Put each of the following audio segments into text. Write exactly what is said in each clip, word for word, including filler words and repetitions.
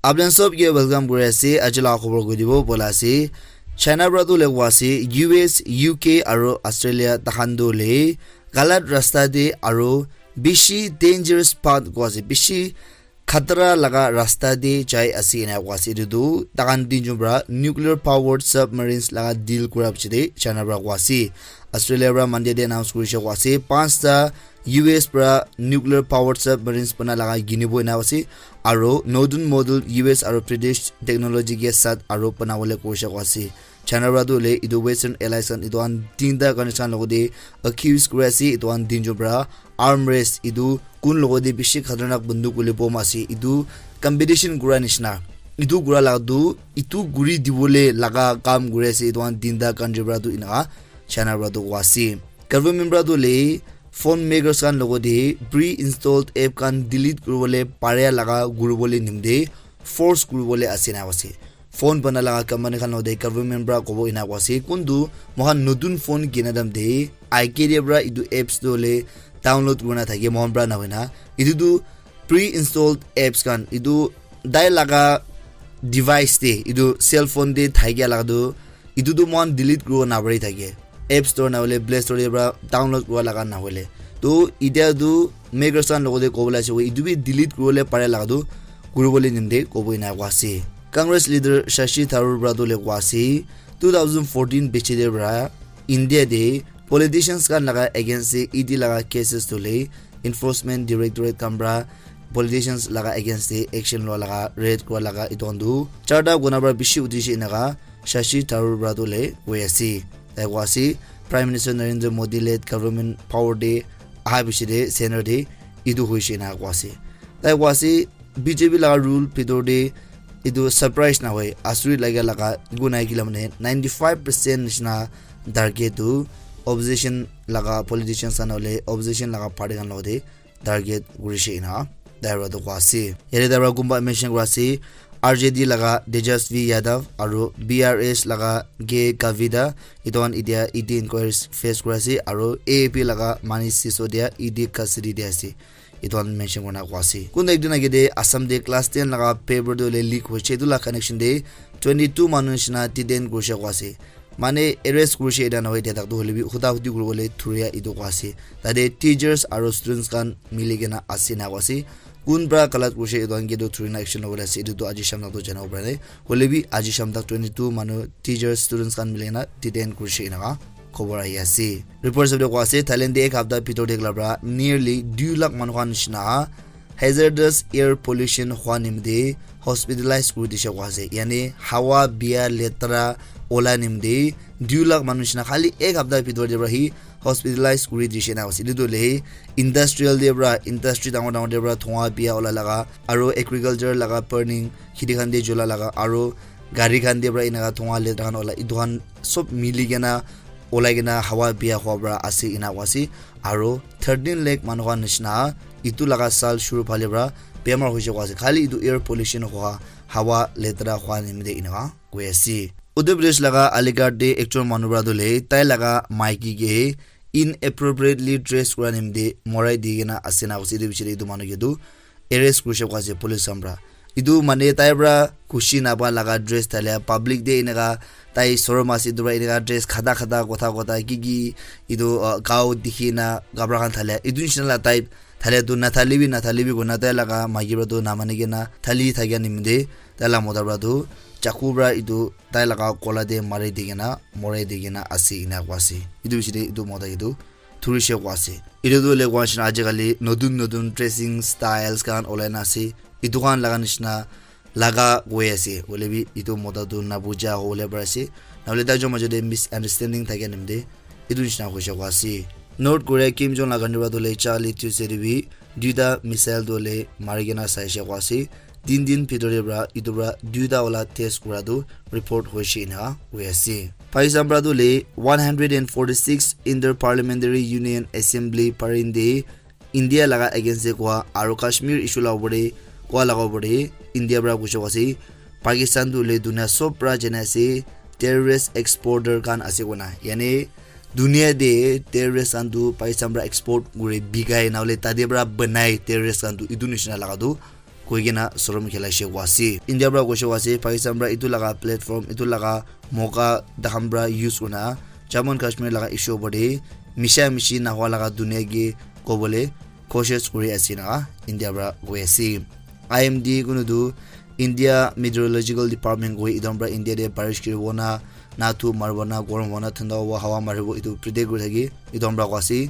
Apni khan sob ke welcome kuri ase. Aji laga khobor koi dibo bola ase. China para tu hoile koa ase, U S, U K aru Australia takhan tu hoile galat rasta te aru bishi dangerous path koa ase, bishi khatara laga rasta te jai ase ena koa ase. Etu tu takhan tinjon para nuclear powered submarines laga deal kura piche te China para koa ase. Australia para Monday te announce kurishe koa ase. Panchta U S para nuclear powered submarines bana laga kinibo ena ase. Aru Northern model U S aru British technology ke saath aru banabole koishe koa ase. China para tu hoile etu Western allies khan etu khan tinta countries khan logote accuse kuri ase, etu khan tinjon para arm race, etu kun logote bishi khatarnak banduk hoile bom ase, etu competition kura nishina. Etu kura laga tu etu kuri dibole laga kam kuri ase etu khan tinta country para tu enaka China para tu koa ase. Government para tu hoile phone makers khan logote pre-installed app khan delete kuribole paria laga kuribole nimite force kuribole ase na ase. Phone bana laga company khan logote government para kobo ena koa ase. Kuntu moikhan notun phone kina time te I K D para etu apps tu hoile download kurina thake moikhan para nahoina. Etu tu pre-installed apps khan etu tai laga device te, etu cell phone te thakia laga tu etu tu moikhan delete kuribo napari thake. App Store na hoile Play Store te para download kuribo laga na hoile. To etia tu makers khan logote kobole ase, etu bi delete kuribole pare laga tu kuribole nimite kobo ena koa ase. Congress leader Shashi Tharoor para tu hoile koa ase, two thousand fourteen bichi te para India te politicians khan laga against te E D laga cases tu hoile Enforcement Directorate khan para politicians laga against te action lua laga, raid kura laga etu khan tu charta guna para bishi uthi she enaka Shashi Tharoor para tu hoile koi ase. Tai koa ase, Prime Minister Narendra Modi led government power te aha piche te center te etu hoishe ena koa ase. Tai koa ase, B J P laga rule bhitor te etu surprise na hoi, asuri laga laga eku nai kila mane ninety five percent nishina target tu opposition laga politicians khan hoile opposition laga party khan logote target kurishe ena tai para tu koa ase. Yate tai para kunba mention kura ase, R J D laga Tejasvi Yadav aru B R S laga K Kavita, etu khan etia E D inquiries face kura ase aru A A P laga Manish Sisodia E D custody te ase. Etu khan mention kurina koa ase. Kun ekdin age te Assam te class ten laga paper tu hoile leak hoise, etu laga connection te twenty two manu nishina detain kurishe koa ase. Mane arrest kurishe eta nahoi dia tak tu hoile bi huda hudi kuribole thuria etu koa ase. Tate teachers aru students khan mili kena ase na koa ase. Kun para galat kurishe etu khan ke tu thurina action lobole ase, etu tu aji sham tak tu janibo para nai. Hoile bi aji sham tak twenty two manu teachers, students khan mili kena detain kurishe enaka khobor ahi ase. Report sabole koa ase, Thailand te ek hapta bhitor te ekla para nearly dui lakh manu khan nishina hazardous air pollution hwa nimite hospitalize kuri dishe koa ase. Yani hawa bia letra ola nimite dui lakh manu nishina khali ek hapta bhitor te para hi hospitalize kuri dishe na ase. Etu tu hoile industrial te para, industry dangor dangor te para dhua bia ola laga, aru agriculture laga burning, kheti khan te jola laga, aru gari khan te para enaka dhua letra khan ola, etu khan sob mili kena olai kena hawa bia hwa para ase ena koa ase. Aru thirteen lakh manu khan nishina etu laga saal shuru phale para bemar hoise koa ase. Khali etu air pollution hwa, hawa letra hwa nimite enaka koi ase. Uttar Pradesh laga Aligarh te ekjon manu para tu hoile tai laga maiki ke inappropriately dress kura nimite morai di kena ase na koise. Etu piche te etu manu ke tu arrest kurishe koa ase police khan para. Etu mane tai para khushi napa laga dress thalia public te enaka tai sorom ase etu para enaka dress khata khata kotha kotha ki ki etu, uh, gao dikhi na kapra khan thalia etu nishina la type thalia tu nathali bi nathali bi koina tai laga maiki para tu namani kena thali thakia nimite tai la mota para tu chaku para etu tai laga gola te mari di kena morai di kena ase ena koa ase. Etu piche te etu mota etu thurishe koa ase. Etu tu hoile koa nishina ajikali notun notun dressing styles khan olai na ase. Etu khan laga nishina laga koi ase. Hoile bi etu mota tu nabuja hobole pari ase. Nahole tai jon majo te misunderstanding thakia nimite etu nishina hoise koa ase. North Korea Kim Jong laga nira tu hoile Charlie Tuesday te bi duita missile tu hoile mari kena saishe koa ase. Tin din bhitor te para etu para duita wala test kura tu report hoishe ena hoi ase. Pakistan para tu hoile one hundred and forty six Inter Parliamentary Union Assembly parin te India laga against te koa aru Kashmir issue la opor te koa laga opor te India para kuishe koa ase Pakistan tu hoile dunia sob para jana ase terrorist exporter khan ase koina. Yani dunia te terrorist khan tu Pakistan para export kuri bikai na hoile tate para banai terrorist khan tu etu nishina laga tu koi kena sorom khelaishe koa ase. India pra koishe koa ase, Pakistan pra etu laga platform, etu laga moka takhan pra use kurina Jammu and Kashmir laga issue opor te misha mishi nahua laga dunia ke kobole koshish kuri ase na India pra koi ase. I M D kunu tu India Meteorological Department koi etu pra India te barish kiribo na, na tu maribo na, gorom hobo na, thanda hobo, hawa maribo, etu predict kuri thaki etu pra koa ase.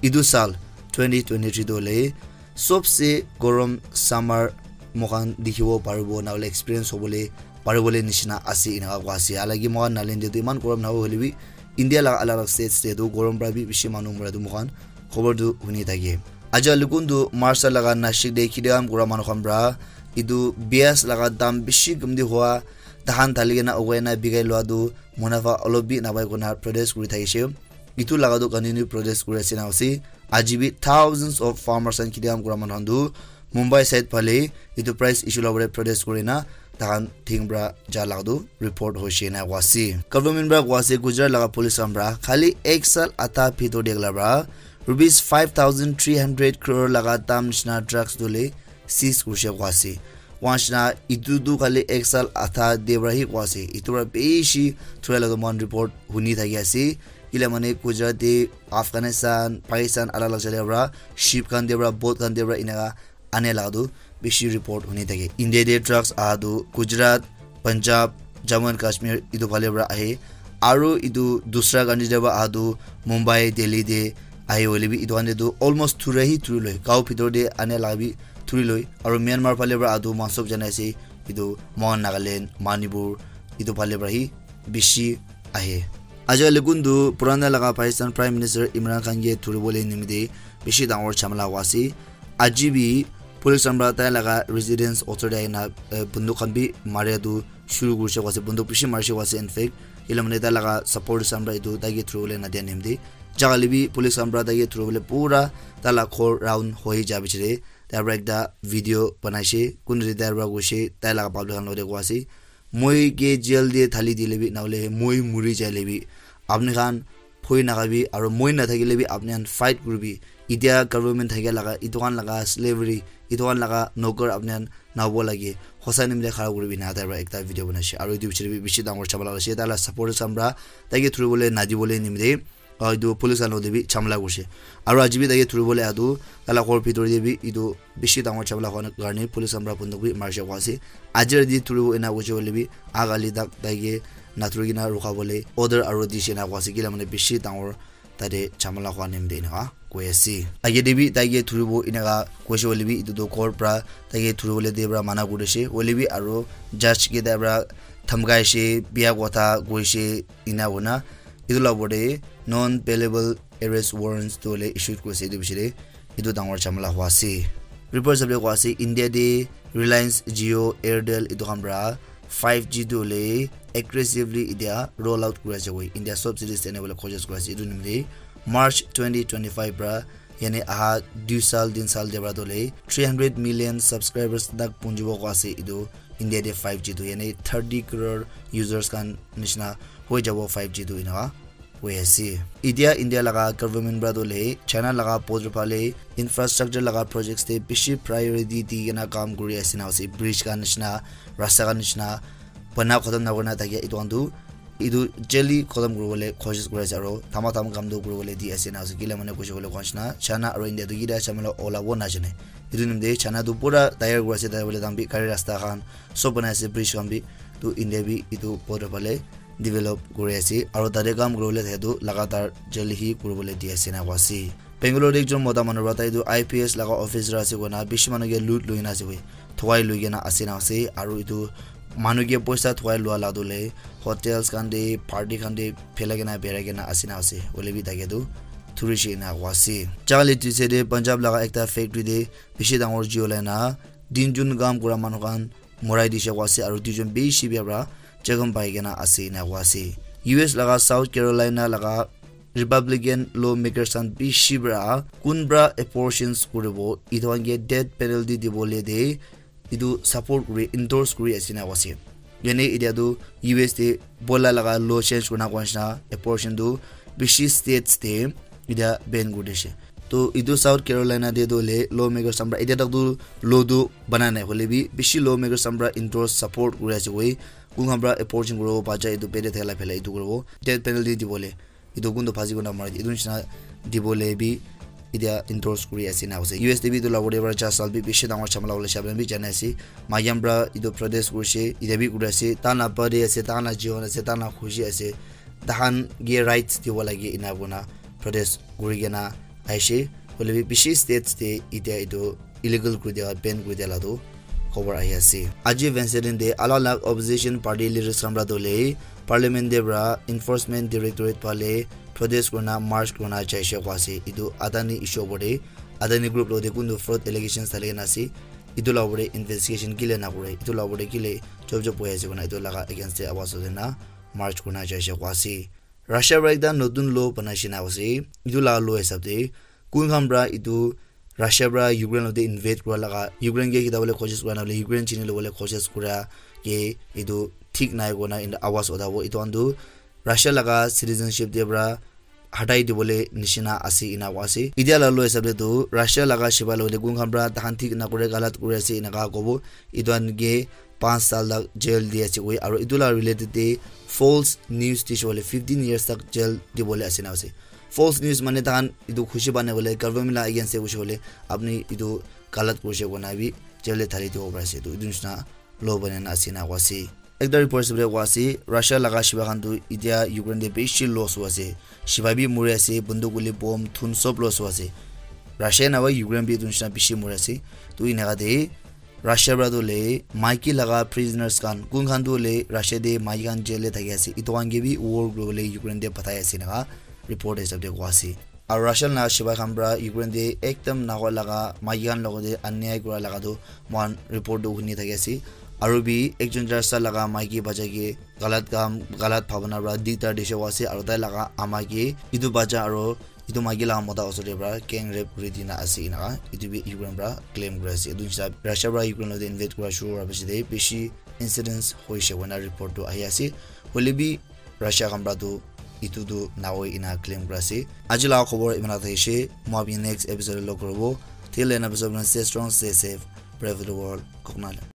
Etu sal twenty twenty-three tu hoile sobse gorom summer moikhan dikhibo paribo, na hoile experience hobole paribole nishina ase, enaka koa ase. Halaki moikhan Nagaland te tu eman gorom nahoi hoile bi, India laga alag alag states te tu gorom pra bi bishi manu mura tu moikhan khobor tu huni thake. Aja lukun tu March laga Nashik te khiti kam kura manu khan pra etu pias laga dam bishi kumti hua, tahan thali kena ugai na bikai lua tu munafa olop bi napai kona protest kuri thakishe. Etu laga tu continue protest kuri ase na ase. Aji bi thousands of farmers and khiti kam kura manu khan tu Mumbai side phale etu price issue la pore protest kuri na tahan thing pra ja laga tu report hoishe na koa ase. Government pra koa ase Gujarat laga police khan pra khali ek sal ata bhitor te la pra rupees five thousand three hundred crore laga dam nishina drugs tu le seize kurishe koa ase. Koa nishina etu tu khali ek sal ata te pra hi koa ase. Etu pra bishi thurai laga tu moikhan report huni thaki ase. Kila mane Gujarat te Afghanistan, Pakistan, alag alag jaka pra ship khan te pra, boat khan te pra enaka ane laga tu bishi report huni thake. India te drugs aha tu Gujarat, Punjab, Jammu and Kashmir etu phale pra ahe. Aru etu dusra country te pra aha tu Mumbai, Delhi te ahe hoile bi etu khan te tu almost thura hi thuri loi. Gao bhitor te ane laga bi thuri loi. Aru Myanmar phale pra aha tu moikhan sob jana ase etu moikhan Nagaland, Manipur etu phale pra hi bishi ahe. Aja lukun tu purana laga Pakistan Prime Minister Imran Khan ke thuribole nimite bishi dangor jhamala hua ase. Aji bi police khan pra tai laga residence osor te ahina, eh, bunduk khan bi maria tu shuru kurishe koa ase, bunduk bishi marishe koa ase. In fact, kila mane tai laga supporters khan pra etu tai ke thuribole nadia nimite jaga le bi police khan pra tai ke thuribole pura tai la ghor round hoi ja bichire tai pra ekta video banaishe, kun ri tai pra koishe, tai laga public khan logote koa ase, moi ke jail te thali dile bi, nahole moi muri jaile bi, apni khan bhoi nakabi, aru moi nathakile bi apni khan fight kuribi. Itya government thakia laga, itu khan laga slavery, itu khan laga noker apni khan nabo lage. Hosa nimite khara kuribi na tai pra ekta video banaishe. Aru itu bichire bi bishi dangor jhamala hoishe. Tai la supporters khan pra tai ke thuribole nadibole nimite, ah, itu police khan logote bi jhamala kurishe. Aru aji bi tai ke thuribole atu, tai la ghor bhitor te bi itu bishi dangor jhamala hua karne police khan pra bunduk bi marishe koa ase. Aji rati thuribo ena hoishe hoile bi, agali tak tai ke nathuri kena rukha bole order aru dishe ena koa ase. Kila mane bishi dangor tate jhamala hua nimite enaka koi ase. Age te bi tai ke thuribo enaka koishe hoile bi, itu toh court pra tai ke thuribole de pra mana kurishe. Hoile bi aru judge ke tai pra dhamkaishe, biya kotha koishe, ena hoina itu la opor te non bailable arrest warrants tu hoile issued kurise itu bichire. Itu dangor jhamala hua ase. Report hisab te koa ase, India te Reliance Jio, Airtel itu khan pra five G tu hoile aggressively itya roll out kuri ase koi. India sob cities te ene hoile koshish kuri ase. Itu nimite March twenty twenty-five pra, yani aha dui sal, tin sal te pra tu hoile three hundred million subscribers tak punjibo koa ase. Itu India te five G tu, yani thirty crore users khan nishina hoi jabo five G tu enaka hoi ase. Itya India laga government pra tu hoile China laga border phale infrastructure laga projects te bishi priority di kena kam kuri ase na ase. Bridge khan nishina, rasta khan nishina, bana khatam nakurina thakia itu khan tu itu jaldi khatam kuribole koshish kuri ase, aro thama tham kam tu kuribole di ase na ase. Kila mane koishe koile koa nishina China aro India tu kida jhamala olabo najane. Itu nimite China tu pura tayar kuri ase, tai bole dam bi gari rasta khan sob banai ase, bridge khan bi. Tu India bi itu border phale develop kuri ase, aro tate kam kuribole thake tu lagatar jaldi hi kuribole di ase na koa ase. Bangalore te ekjon mota manu pra tai tu I P S laga officer ase koina bishi manu ke loot loi kena ase koi, thuwai loi kena ase na ase, aro itu manu ke poisa thuwai lua la tu hoile hotels khan te, party khan te phelai kena berai kena ase na ase, hoile bi tai ke tu thurishe ena koa ase. Jaga le tuise te Punjab laga ekta factory te bishi dangor jui olai na tinjon kam kura manu khan morai dishe koa ase, aro duijon bishi bia pra jakham pai kena ase ena koa ase. U S laga South Carolina laga Republican lawmakers khan bishi pra kun pra abortions kuribo, itu khan ke death penalty dibole de itu support kuri, endorse kuri ase ena koa ase. Yani itya tu U S te bola laga law change kurina koa nishina abortion tu bishi states te itya ban kuri dishe. To etu South Carolina te tu le lawmakers khan para etia tak tu law tu banai nai hoile bi bishi lawmakers khan para endorse support kuri ase koi. Kun khan para abortion kuribo bacha etu pede thela phela etu kuribo death penalty dibole etu kun tu phasi kona mari etu nishina dibole bi etia endorse kuri ase na ase. U S te bi etu la whatever cha sal bi bishi dangor chamala hoile shabla bi jana ase. Mayam para etu protest kurise etia bi kuri ase ta na body ase ta na jiwan ase ta na khushi ase. Tahan ke rights dibo lage ena kona protest kuri kena aishe. Hoile bi bishi states te etia etu illegal kuri dia ban kuri dia la tu khobor ahi ase. Aji Wednesday din te alak alak opposition party leaders khan para tu le parliament te para enforcement directorate phale protest kurina march kurina jaishe koi ase. Etu Adani issue opor te Adani group lo te kuntu fraud allegations thali kena ase. Etu la opor te investigation kile na kore etu la opor te kile chop chop hoi ase kona etu laga against te awas hoina march kurina jaishe koi ase. Russia para ekta notun law banai shina ase. Etu la law hisab te kun khan para etu Russia para Ukraine lote invade kura laga Ukraine ke khita bole koshish kura na bole Ukraine chini lobole koshish kura ke etu thik nai kona in awas utabo etu khan tu Russia laga citizenship te para hatai dibole nishina ase ena koi ase. Etia la law hisab te tu Russia laga shibai lote kun khan para tahan thik na kure galat kuri ase enaka kobo etu khan ke panch sal tak jail di ase koi aro etu la related te false news dishe hoile fifteen years tak jail dibole ase na ase. False news mane tahan etu khushi bane hoile government la against te hoishe hoile apni etu galat kurishe kona bi jail te thali dibo pari ase. Etu etu nishina law banai na ase na koi ase. Ekta report hisab te koi ase Russia laga shibai khan tu etia Ukraine te bishi loss hoi ase. Shibai bi muri ase bunduk guli bomb thun sob loss hoi ase. Russia na hoi Ukraine bi etu nishina bishi muri ase. Tu enaka te Russia para tu le maiki laga prisoners khan kun khan tu le Russia te maiki khan jail te thaki ase etu khan ke bi war kuri bole Ukraine te pathai ase enaka report hisab te koi ase. Aru Russia laga shibai khan para Ukraine te ekdam nahoi laga maiki khan logot te anyai kura laga tu moikhan report tu huni thaki ase. Aru bi ekjon Russia laga maiki bacha ke galat kam galat bhabana para duita dishe koi ase aru tai laga ama ke etu bacha aru etu maiki laga mota osor te para gang rape kuri dina ase enaka etu bi Ukraine para claim kuri ase. Etu hisab Russia para Ukraine logot te invade kura shuru hua piche te bishi incidents hoishe koina report tu ahi ase. Hoile bi Russia khan para tu etu tu nahoi ena claim kuri ase. Aji laga khobor imana thakishe. Moi apni next episode te log kuribo. Till then, episode stay strong, stay safe. Pray for the world. Koknalan.